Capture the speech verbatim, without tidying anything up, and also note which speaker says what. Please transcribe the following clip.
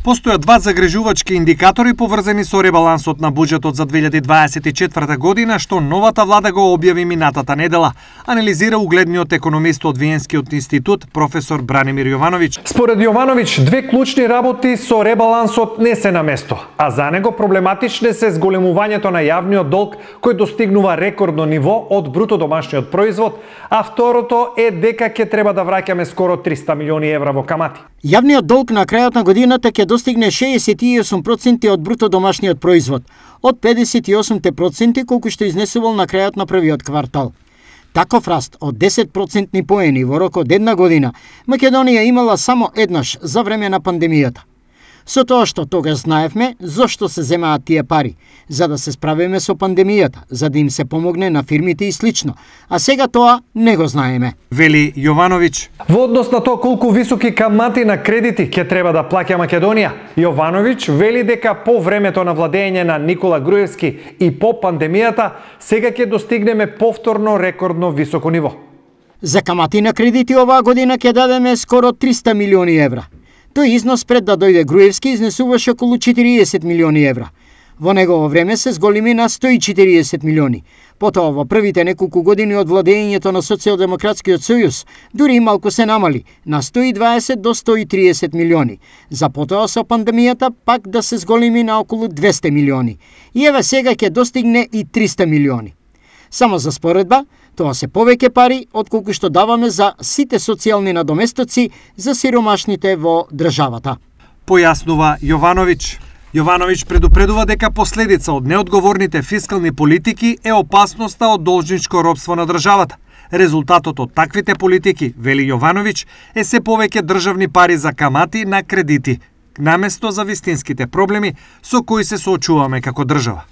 Speaker 1: Постојат два загрижувачки индикатори поврзани со ребалансот на буџетот за две илјади дваесет и четврта година, што новата влада го објави минатата недела, анализира угледниот економист од Виенскиот институт професор Бранимир Јовановиќ.
Speaker 2: Според Јовановиќ, две клучни работи со ребалансот не се на место, а за него проблематичне се зголемувањето на јавниот долг кој достигнува рекордно ниво од бруто домашниот производ, а второто е дека ќе треба да враќаме скоро триста милиони евра во камати.
Speaker 3: Јавниот долг на крајот на годината ќе достигне шеесет и осум проценти од бруто домашниот производ, од педесет и осум проценти колку што изнесувал на крајот на првиот квартал. Таков раст од десет процентни поени во рок од една година Македонија имала само еднаш за време на пандемијата. Со тоа што тогаш знаевме зошто се земаат тие пари, за да се справиме со пандемијата, за да им се помогне на фирмите и слично, а сега тоа не го знаеме.
Speaker 1: Вели Јовановиќ.
Speaker 2: Во однос на тоа колку високи камати на кредити ќе треба да плаќа Македонија, Јовановиќ вели дека по времето на владење на Никола Груевски и по пандемијата, сега ќе достигнеме повторно рекордно високо ниво.
Speaker 3: За камати на кредити оваа година ќе дадеме скоро триста милиони евра. Тој износ пред да дојде Груевски изнесуваше околу четириесет милиони евра. Во негово време се зголеми на сто и четириесет милиони. Потоа во првите неколку години од владењето на Социјалдемократскиот сојуз дури и малку се намали на сто и дваесет до сто и триесет милиони. За потоа со пандемијата пак да се зголеми на околу двесте милиони. И еве сега ќе достигне и триста милиони. Само за споредба, тоа се повеќе пари отколку што даваме за сите социјални надоместоци за сиромашните во државата.
Speaker 1: Појаснува Јовановиќ. Јовановиќ предупредува дека последица од неодговорните фискални политики е опасноста од должничко робство на државата. Резултатот од таквите политики, вели Јовановиќ, е се повеќе државни пари за камати на кредити, наместо за вистинските проблеми со кои се соочуваме како држава.